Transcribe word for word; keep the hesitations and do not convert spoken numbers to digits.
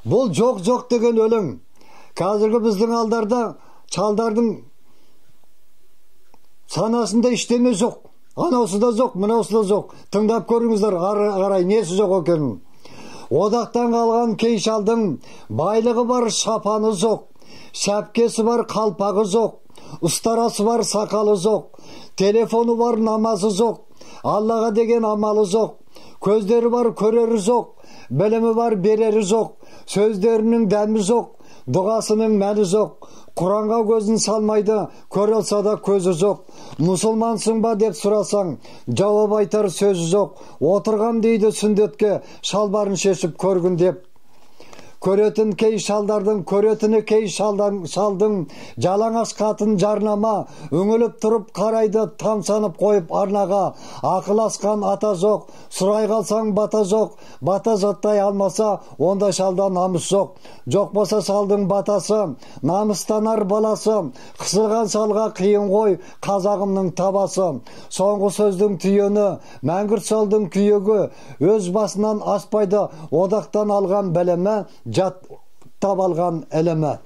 Бул жок жок деген өлең. Казыркы биздин алдарда чалдардын санасында иштеме жок. Анасы да жок, мынасы да жок. Тыңдап көрүңүздөр, карай неси жок экенин. Одактан калган кей шалдын байлыгы бар, шапаны жок. Шапкеси бар, калпагы жок. Устарасы бар, сакалы жок. Телефону бар, намазы жок. Аллага деген амалы жок. Көздөрү бар, көрөрү жок. Билими бар, берери жок. Сөздөрүнүн дәми жок. Дугасынын мәни жок. Куранга көзүн салмайды, көрө алса да көзү жок. Мусулмансың ба деп сурасаң, жооп айтар сөзү жок. Отургам дейди сүндөткө, шалбарын шешип көргүн деп. Көрөтүн кей шалдардын, көрөтүнү кей шалдан, шалдын жалаңаш катын жарнама, өңөлүп туруп карайды, тамсанып коюп арнага. Акыл аскан ата жок, сурай калсаң бата жок, бата жаттай алмаса, онда шалда намыс жок. Жок болсо шалдын батасы, намыстанар баласы, кысылган шалга кыйын кой, казагымдын табасы. Соңку сөздүн түйөнү, мәңгүрт шалдын күйөгү, өз басынан аспайды, одактан алган белеме, жат табалган элеме.